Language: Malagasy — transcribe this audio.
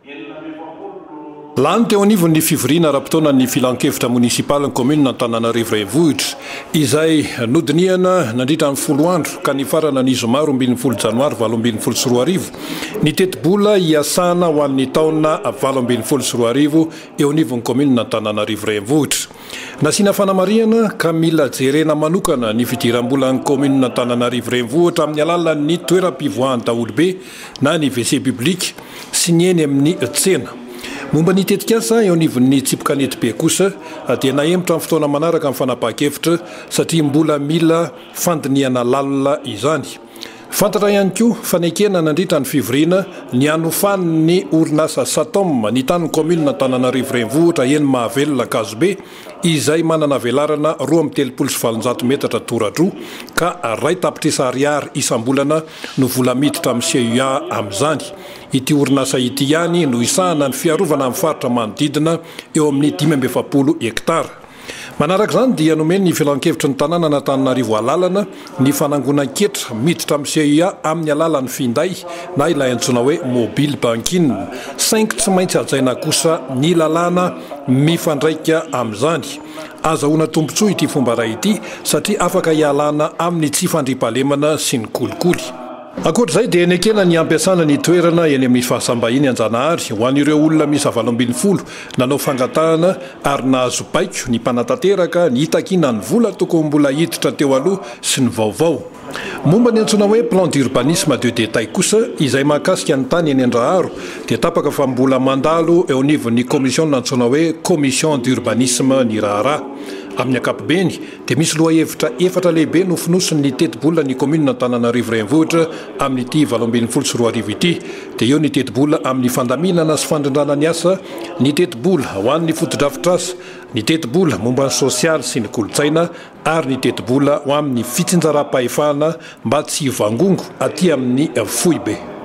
Lany teo anivon'ny fivoriana ara-potoanan'ny Filankevitra monisipalin'ny kaominina Antananarivo Renivohitra, izay nodinihana nandritra ny folo andro ka nifarana ny zoma 12 janoary 2018, ny tetibola hiasana ho an'ny taona 2018 eo anivon'ny kaominina Antananarivo Renivohitra. Nasiana fanamarihana ka mila jerena manokana ny fidiram-bolan'ny kaominina Antananarivo Renivohitra amin'ny alalan'ny toeram-pivoahan'ny daholobe na ny WC public sy ny eny amin'ny tsena. Momba ny tetikasa eo anivon'ny tsipy kanetibe kosa dia nahemotra amin'ny fotoana manaraka ny fanapahan-kevitra satria mbola mila fandinihana lalina izany. Fantatra ihany koa fa nekena nandritra ny fivoriana ny hanofan'ny orinasa Satom ny tanin'ny kaominina Antananarivo Renivohitra eny Mahavelona Ankazobe izay manana velarana 832 metatra tora-droa ka 1 tapitrisa ariary isam-bolana no vola miditra amin'ny CUA amin'izany. Ity orinasa ity ihany no hisahana ny fiarovana amin'ny faritra manodidina eo amin'ny 45 hektara. Manaraka izany dia nomen'ny Filankevitry ny tanànan'Antananarivo alalana ny fanangonan-ketra miditra amin'ny CUA amin'ny alalan'ny finday na ilay antsoina hoe mobile banking saingy tsy maintsy hajaina kosa ny lalàna mifandraika amin'izany. Azahoana tombontsoa ity fomba iray ity satria afaka hialana amin'ny tsy fandriampahalemana sy ny kolikoly. Ankoatra izay dia nekena ny hampiasana ny toerana eny amin'ny fahasambahiny Anjanahary ho an'ireo olona miisa 18 nanao fangatahana ary nahazo baiko ny mpanatanteraka ny hitakiana ny vola tokony mbola hiditra teo aloha sy ny vaovao. Momba ny antsoina hoe plan d'urbanisme de détail kosa izay mahakasika ny tany eny Andraharo dia tapaka fa mbola mandalo eo anivon'ny commission antsoina hoe commission d'urbanisme ny raharaha. Amin'ny ankapobeny dia misy lohahevitra efatra lehibe nofonosin'ny tetibolan'ny kaominina Antananarivo Renivohitra amin'ity 2018 ity dia eo ny tetibola amin'ny fandaminana sy fandrindrana ny asa, ny tetibola ho an'ny fotodrafitrasa, ny tetibola momba ny sosialy sy ny kolontsaina ary ny tetibola ho amin'ny fitsinjaram-pahefana mba tsy hivangongo aty amin'ny foibe.